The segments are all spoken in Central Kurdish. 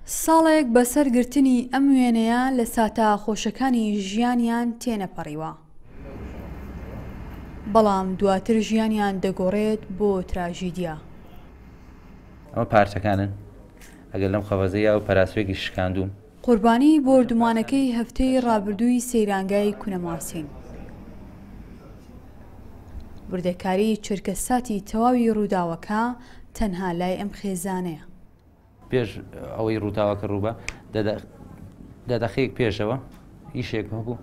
ساڵێک بەسەر گرتنی ئەم وێنەیە لە ساتە خۆشەکانی ژیانیان تێنەپەڕیوە، بەڵام دواتر ژیانیان دەگۆڕێت بۆ تراژیدیا. ئەمە پارچەکانن ئەگەر لەم خەڤەزەی ئەو پەراسوێکی شکاندووم. قوربانی بۆردومانەکەی هەفتەی ڕابردووی سەیرانگای کونەماسین. وردەکاری چرکەساتی تەواوی ڕووداوەکە تەنها لای ئەم خێزانەیە. پێش ئەوەی ڕووداوەکە ڕووبا دە دەقەیەک پێشەوە ئیشێک هەبوو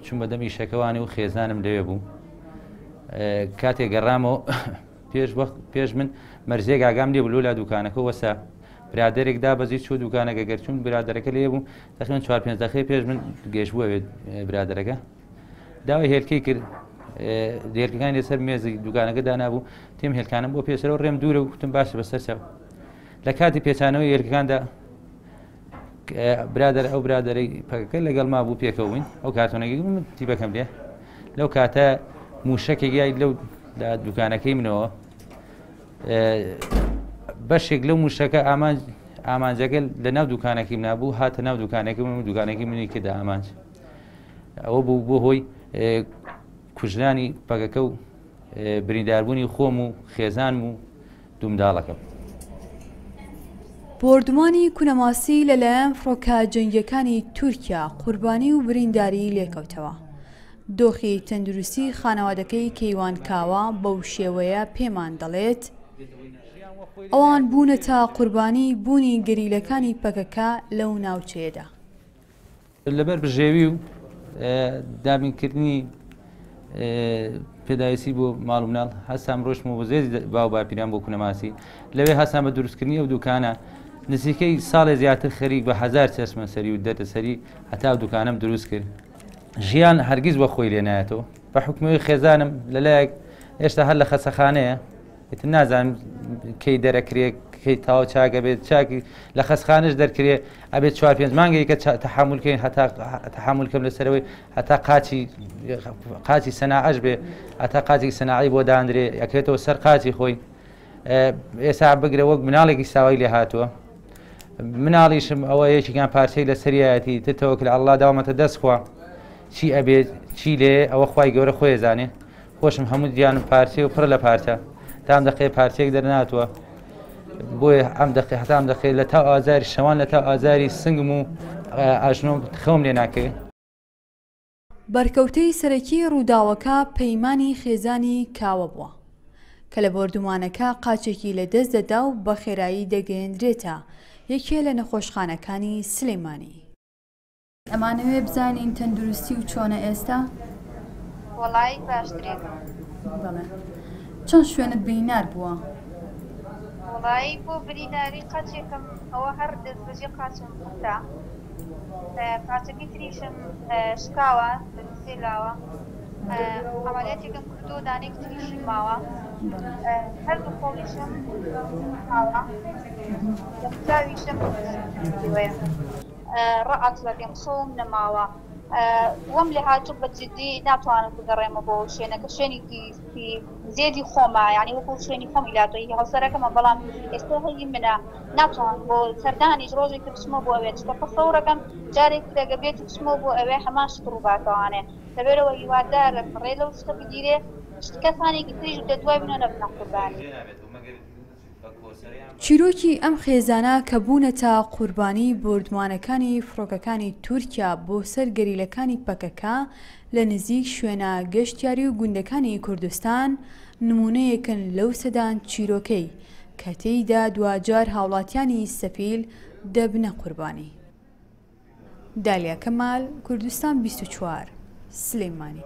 چووم بەدەم ئیشەکەوانی و خێزانم لەوێ بوو کاتێک گەڕامەوە پێش وەخت پێش من مەرزێک ئاگام لێ بوو لۆ لا دوکانەکە وەسا برادێک دابەزی چوو دوکانەکە گەرچوون برادەرەکە لێ بوو تقریبا چوار پێنج دەقەی پێش من گەشت بووە برادەرەکە داوای هێلکەی کرد هێلکەکانی لەسەر مێزی دوکانەکە دانابوو تیم هێلکانم بۆ پێسەرەوە ڕێم دوورە و کوتم باشە بەسەر چاو لە کاتی پێچانەوەی هێلکەکاندا برادەر ئەو برادەرەی پەکەکە لەگەڵ ما بوو پێکەوە بووین ئەو کارتۆنەکەی من تیپەکەم لێ لەو کاتە موشەکێک یای لەو لە دوکانەکەی منەوە بەشێک لەو موشەکە ئامانج ئامانجەکە لە ناو دوکانەکەی نابوو هاتە ناو دوکانەکەی من و دوکانەکەی منی کردە ئامانج ئەوە بوو بۆ هۆی کوژرانی پەکەکە و برینداربوونی خۆم و خێزانم و دوومنداڵەکەم. بۆردومانی کونەماسی لەلایەن فڕۆکە جەنگییەکانی تورکیا قوربانی و برینداری لێکەوتەوە. دۆخی تەندروستی خانەوادەکەی کەیوان کاوە بەو شێوەیە پێمان دەڵێت، ئەوان بوونەتە قوربانی بوونی گەریلەکانی پەکەکە لەو ناوچەیەدا. لەبەر بژێوی و دابینکردنی پێداویستی بۆ ماڵ و مناڵ هەستام ڕۆشتم و بۆ زێدی باو باپیران بۆ کونەماسی لەوێ هەستام بە دروستکردنی ئەو دوکانە نزیکەی ساڵێ زیاتر خەریک بە هەزار چەشمە سەری و دەردەسەری هەتا ئەو دوکانەم دروست کرد ژیان هەرگیز وە خۆی لێ نایەتەوە بە حکومەوەی خێزانم لەلایەک هێشتا هەر لە خەسەخانەیە ئیتر نازانم کەی دەرەکرێ کەی تەواو چاک ئەبێت چاکی لە خەستخانەش دەرکرێ ئەبێت چوار پێنج مانگێک کە تەحەمول کەین هەتا تەحەمول کەم لەسەرەوەی هەتا قاچی قاچی سەناعەش بێ هەتا قاچی سەناعی بۆ دانرێ ئەکرێتەوە سەر قاچی خۆی ئێستا بگرە وەک مناڵێکی ساوای لێ هاتووە مناڵیشم ئەوە یەکێکیان پارچەی لە سەریایەتی تر تەوەکل عەڵڵا داومەتە دەست خوا چی ئەبێت چی لێ ئەوە خوای گەورە خۆی زانێ خۆشم هەموو گیانم پارچەیە و پڕە لە پارچە تا ئەم دەقەیە پارچەیەک دەرناتووە بۆیە ئەم دەقی هەتا ئەم دەقەیە لە تاو ئازاری شەوان لە تاو ئازاری سنگم و ئاژنۆم خەوم لێ ناکەوێ. بەرکەوتەی سەرەکی ڕووداوەکە پەیمانی خێزانی کاوە بووە، کە لە بۆردومانەکە قاچێکی لەدەست دەدا و بە خێرایی دەگەیەندرێتە یەکێ لە نەخۆشخانەکانی سلێمانی. ئەمانەوێ بزانین تەندروستی و چۆنە ئێستا؟ وەڵایی باشترین. بەڵێ چەند شوێنت برینار بووە؟ وەڵایی بۆ بریناری قاچێکم ئەوە هەر دەستبەجێ قاچم قوتا قاچەکەی تریشم شکاوە لە سێ لاوە عەمەلیاتێکم کردووە دانەیەکی تریشی ماوە هەردوو قۆڵیشم ماوە دەموچاویشم شێوەیە. ڕائەچڵەکێم خەوم نەماوە وەم لێهاتوو بە جدی ناتوانم بگەڕێمەوە بۆ ئەو شوێنە کە شوێنێکی زێدی خۆمە یانی وەکو شوێنی خۆمی لاتۆ هی هاوسەرەکەمە بەڵام ئێستا هی منە ناتوانم بۆ سەردانیش ڕۆژێک بچمەوە بۆ ئەوێ چونکە تەسەورەکەم جارێک تر ئەگەر بێت و بچمەوە بۆ ئەوێ هەمان شت ڕووباتەوانێ لەبەرئەوە هیوادارم ڕێ لەو شتە بگیرێ کەسانێکی تریش لە دوای منەوە نەبنە قوربانی. چیرۆکی ئەم خێزانە کە بوونەتە قوربانی بۆردومانەکانی فڕۆکەکانی تورکیا بۆ سەر گەریلەکانی پەکەکە لە نزیک شوێنە گەشتیاری و گوندەکانی کوردستان نموونەیەکن لەو سەدان چیرۆکەی کە تێیدا دواجار هاوڵاتیانی سەفیل دەبنە قوربانی. دالیا کەمال، کوردستان 24، سلێمانی.